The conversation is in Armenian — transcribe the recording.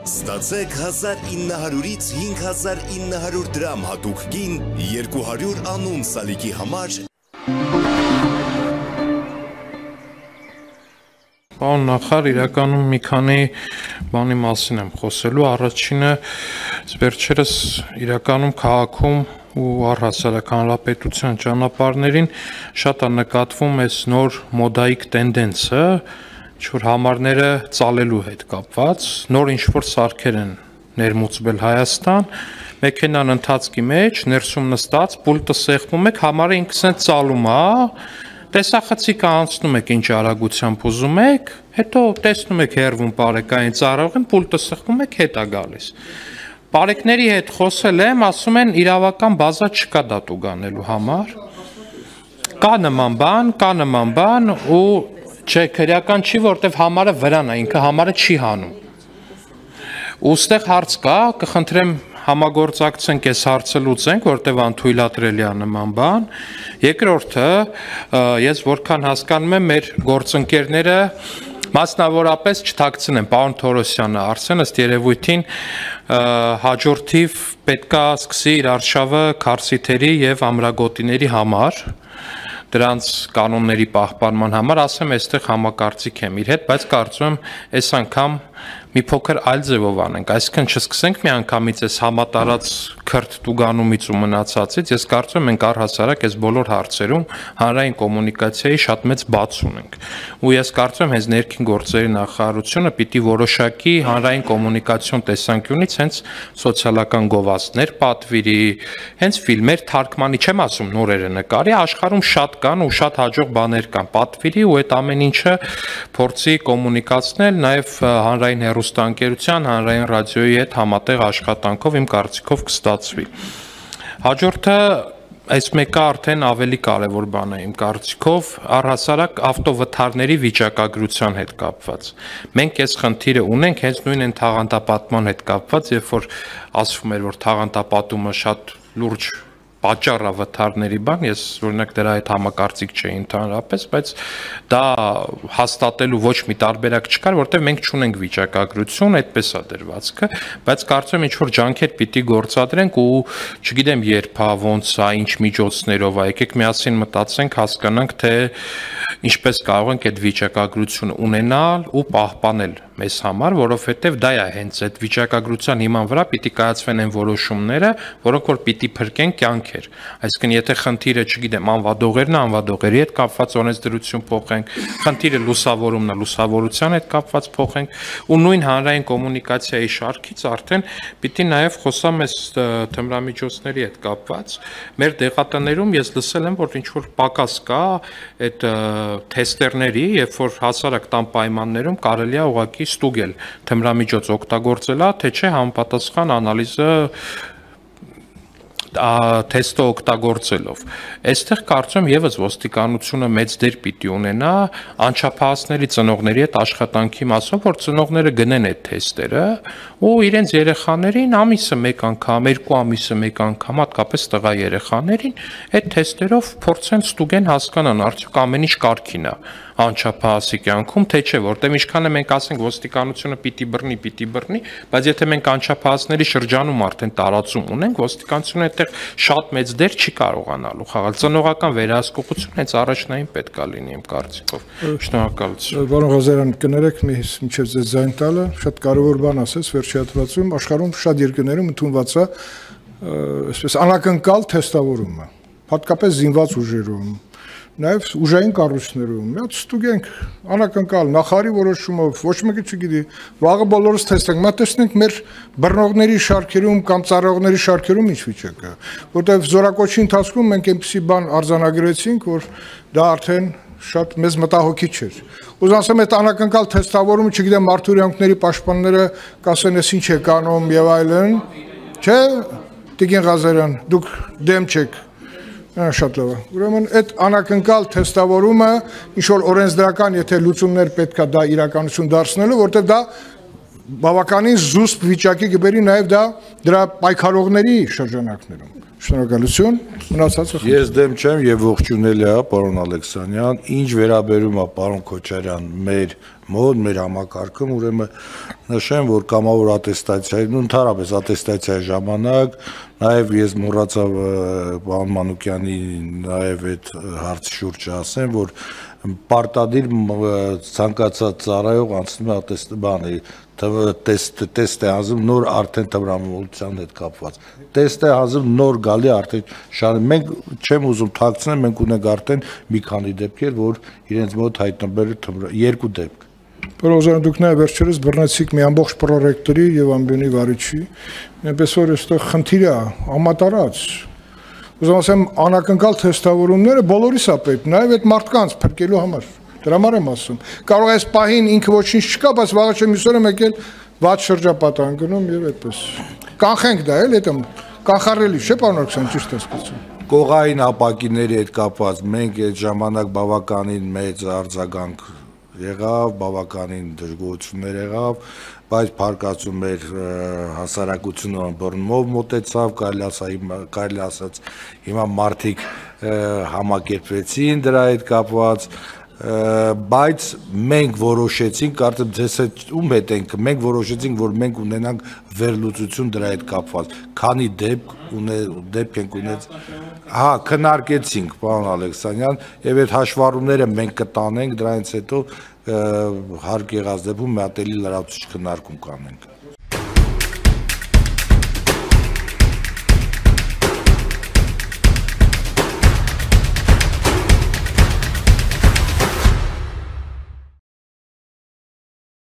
Ստացեք 1900-ից 5900 դրամ հատուկ գին 200 անուն սալիկի համար։ Պարոն նախարար, իրականում մի քանի բանի մասին եմ խոսելու, առաջինը վերջերս իրականում քաղաքում ու առհասարակ հանրապետության ճանապարհներին շատ է նկատվում այս նոր մոդայիկ տենդենսը, որ համարները ծալելու հետ կապված, նոր ինչ-որ սարքեր են ներմուծվել Հայաստան, մեքենան ընթացքի մեջ, ներսում նստած, պուլտը սեղմում եք, համարը ինքս են ծալում, տեսախցիկը անցնում եք ինչ արագությամբ ուզում եք, հետո տեսնում եք հեռվում բարեկային ծառայողին, պուլտը սեղմում եք, հետ է գալիս։ Բարեկների հետ խոսել եմ, ասում են իրավական բազա չկա դա տուգանելու համար։ Կա նման բան ու չէ, քրեական չի, որտեվ համարը վրան է, ինքը համարը չի հանում։ Ու ստեղ հարց կա, կխնդրեմ համագործակցենք այս հարցը լուծենք, որտեվ անթույլատրելի է նման բան։ Երկրորդը, ես որքան հասկանում եմ, մեր գործընկերները մասնավորապես չթաքցնեն, պարոն Թորոսյանը, Արսեն ըստ երևույթին հաջորդիվ պետքա սկսի իր արշավը քարսիթերի եւ ամրագոտիների համար, դրանց կանոնների պահպանման համար, ասեմ, այստեղ համակարծիք եմ իր հետ, բայց կարծում եմ այս անգամ մի փոքր այլ ձևով անենք, այսինքն չսկսենք միանգամից այս համատարած քրտ տուգանումից ու մնացածից, ես կարծում եմ մենք առհասարակ այս բոլոր հարցերում հանրային կոմունիկացիայի շատ մեծ բաց ունենք։ Ու ես կարծում եմ հենց ներքին գործերի նախարարությունը պիտի որոշակի հանրային կոմունիկացիոն տեսանկյունից հենց սոցիալական գովազդներ պատվիրի, հենց ֆիլմեր թարգմանի, չեմ ասում նորերը նկարի, աշխարհում շատ կան ու շատ հաջող բաներ կան, պատվիրի ու այդ ամեն ինչը փորձի կոմունիկացնել նաև հանրային հեռուստաընկերության, հանրային ռադիոյի հետ համատեղ աշխատանքով իմ կարծիքով կստացվի։ Հաջորդը այս մեկը արդեն ավելի կարևոր բան է իմ կարծիքով, առհասարակ ավտովթարների վիճակագրության հետ կապված։ Մենք այս խնդիրը ունենք հենց նույն այն թաղանթապատման հետ կապված, երբ որ ասվում էր, որ թաղանթապատումը շատ լուրջ պատճառ է վթարների բան, ես օրինակ դրա հետ համակարծիք չէի ընդհանրապես, բայց դա հաստատելու ոչ մի տարբերակ չկար, որտեղ մենք չունենք վիճակագրություն, այդպես է դրվածքը, բայց կարծում եմ ինչ-որ ջանքեր պիտի գործադրենք ու չգիտեմ երբ, ոնց է, ինչ միջոցներով է, եկեք միասին մտածենք, հասկանանք, թե ինչպես կարող ենք այդ վիճակագրությունը ունենալ ու պահպանել մեզ համար, որովհետև դա է հենց այդ վիճակագրության հիման վրա պիտի կայացվեն այն որոշումները, որոնք որ պիտի փրկեն կյանքեր։ Այսինքն եթե խնդիրը, չգիտեմ, անվադողերն է, անվադողերի հետ կապված օրենսդրություն փոխենք, խնդիրը լուսավորումն է, լուսավորության հետ կապված փոխենք, ու նույն հանրային կոմունիկացիայի շարքից արդեն պիտի նաև խոսամ այս թմրամիջոցների հետ կապված։ Մեր դեղատներում ես լսել եմ, որ ինչ որ պակաս կա այդ թեստերների, երբ որ հասարակ տան պայմաններում կարելի է ուղղակի ստուգել թմրամիջոց օգտագործել է, թե չէ համապատասխան անալիզը թեստը օգտագործելով։ Այստեղ կարծում եմ եւս ոստիկանությունը մեծ դեր պիտի ունենա անչափահասների ծնողների հետ աշխատանքի մասով, որ ծնողները գնեն այդ թեստերը ու իրենց երեխաներին ամիսը մեկ անգամ, 2 ամիսը մեկ անգամ, հատկապես տղա երեխաներին այդ թեստերով փորձեն ստուգեն, հասկանան արդյոք ամեն ինչ կարգին է անչափահասի կյանքում, թե չէ, որտեղ ինչքան է մենք ասենք ոստիկանությունը պիտի բռնի, բայց եթե մենք անչափահասների շրջանում արդեն տարածում ունենք, ոստիկանությունը այդտեղ շատ մեծ դեր չի կարողանալու խաղալ։ Ծնողական վերահսկողություն հենց առաջնային պետք է լինի իմ կարծիքով։ Շնորհակալություն։ Պարոն Ղազարյան, կներեք մինչև ձեզ ձայն տալը, շատ կարևոր բան ասես վերջի հատվածում, աշխարհում շատ երկրներում ընդունված է այսպես անակնկալ թեստավորումը, հատկապես զինված ուժերում, նաև ուժային կառույցներում, միած ստուգենք անակնկալ նախարարի որոշումով, ոչ մեկը չգիտի, վաղը բոլորս թեստենք, մա տեսնենք մեր բռնողների շարքերում կամ ծառայողների շարքերում ինչ վիճակ է, որտեղ զորակոչի ընթացքում մենք այնպիսի բան արձանագրեցինք, որ դա արդեն շատ մեծ մտահոգիչ էր։ Ուզում ասեմ, այդ անակնկալ թեստավորումը, չգիտեմ, մարդու իրավունքների պաշտպանները կասեն, ես ինչ եք անում եւ այլն, չէ, Տիկին Ղազարյան, դուք դեմ չեք։ Շատ լավ է։ Ուրեմն այդ անակնկալ թեստավորումը ինչ որ օրենսդրական, եթե լուծումներ պետք է դա իրականություն դարձնելու, որտեղ դա բավականին զուսպ վիճակի կբերի նաև դա դրա պայքարողների շրջանակներում։ Շնորհակալություն, մնացածը։ Ես դեմ չեմ եւ ողջունել է, պարոն Ալեքսանյան, ինչ վերաբերում է պարոն Քոչարյան մեր մոտ, մեր համակարգում, ուրեմն նշեմ, որ կամավոր ատեստացիայի, ընդհանրապես ատեստացիայի ժամանակ, նաև ես մոռացա պարոն Մանուկյանի նաև այդ հարցի շուրջ ասեմ, որ պարտադիր ցանկացած ծառայող անցնում է տեստ է հանձնում նոր արդեն տրամաբանության հետ կապված։ Տեստ է հանձնում նոր գալի արդեն շարի։ Մենք չեմ ուզում թաքցնել, մենք ունենք արդեն մի քանի դեպքեր, որ իրենց մոտ հայտնվել երկու դեպք։ Պարոն դուք նաև վերջերս բռնեցիք մի ամբողջ պրոռեկտորի եւ ամբիոնի վարիչի, այնպես որ այստեղ խնդիր է համատարած։ Ուզում ասեմ անակնկալ թեստավորումները բոլորիս է պետք, նաև այդ մարդկանց փրկելու համար։ Դրա համար եմ ասում։ Կարող է այս պահին ինքը ոչինչ չկա, բայց վաղը չեմ իսօրը եկել վատ շրջապատան գնում եւ այդպես։ Կանխենք դա էլ, դա կանխառելի չէ, պարոն Ալեքսան, ճիշտ է ասում։ Կողային ապակիների հետ կապված մենք այդ ժամանակ բավականին մեծ արձագանք եղավ, բավականին դժգոհություններ եղավ, բայց փառկացում էր հասարակությունը բռնումով մոտեցավ, կարելի ասած հիմա մարդիկ համակերպվեցին դրա հետ կապված, բայց մենք որոշեցինք, կարծեմ ձեզ հետ ում հետ ենք, մենք որոշեցինք, որ մենք ունենանք վերլուծություն դրա հետ կապված, քանի դեպք ենք ունեց, հա, քննարկեցինք, պարոն Ալեքսանյան, եւ այդ հաշվառումները մենք կտանենք, դրանից հետո հարկ եղած դեպքում մի հատ էլի լրացուցիչ քննարկում կանենք։